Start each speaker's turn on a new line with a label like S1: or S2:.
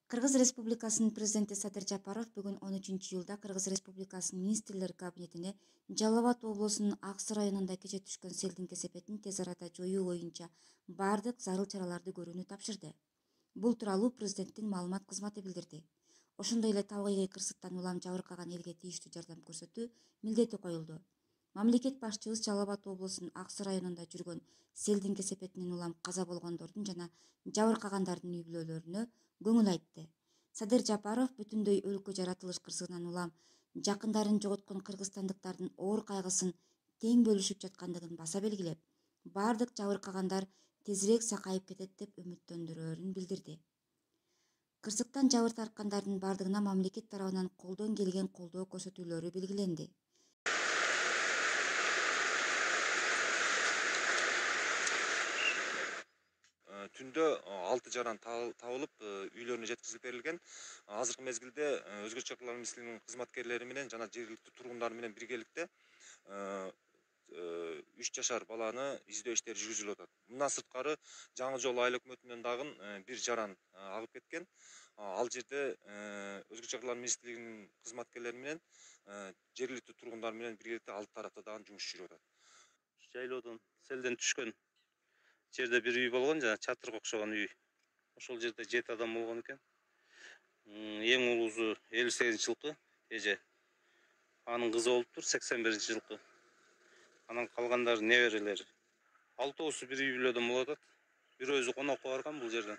S1: Кыргыз Республикасынын президенти Садыр Жапаров бүгүн 13-июлда Кыргыз Республикасынын министрлер кабинетине Жалал Абад облусунун Ак Суу районунда кече түшкөн селдин кесепетин тез арада жоюу боюнча бардык зарыл чараларды көрүүнү тапшырды. Бул тууралуу президенттин маалымат кызматы билдирди. Ошондой эле табигый кырсыктан улам жабыркаган элге тийиштүү жардам көрсөтүү милдети коюлду. Мамлекет башчыбыз Жалал Абад облусунун Ак Суу районунда жүргөн селдин кесепетинен улам каза болгондордун жана жабыркагандардын үй бүлөлөрүнө көңүл айтты. Садыр Жапаров бүтүндөй өлкө жаратылыш кырсыгынан улам жакындарын жоготкон кыргызстандыктардын оор кайгысын тең бөлүшүп жаткандыгын баса белгилеп, бардык жабыркагандар тезирээк сакайып кетет деп үмүттөндүрөөрүн билдирди. Кырсыктан жабыр тарткандардын бардыгына мамлекет тарабынан колдон келген колдоо көрсөтүүлөрү белгиленди.
S2: Түндө 6 жаран табылып, үйлөрүнө жеткизилип берилген. Азыркы мезгилде Өзгөчө чаралар министрлигинин кызматкерлери менен жана жергиликтүү тургундар менен биргеликте 3 жашар баланы издөө иштери жүргүзүлүп атат. Мындан сырткары Жаңы Жол айыл өкмөтүнөн дагы бир жаран агып кеткен. Ал жерде Өзгөчө чаралар министрлигинин кызматкерлери менен жергиликтүү тургундар менен биргеликте ал тарапта дагы жумуш жүрүп атат. Жайлоодон селден түшкөн жерде бир үй болгон, жана чатырга окшогон үй. Ошол жерде 7 адам болгон экен. Эң улуусу 58-жылкы эже. Анын кызы болуптур 81-жылкы. Анан калгандары неберелери. 6-оосу бир үй бүлөдөн болуп атат. Бирөөсү конокко барган бул жерден.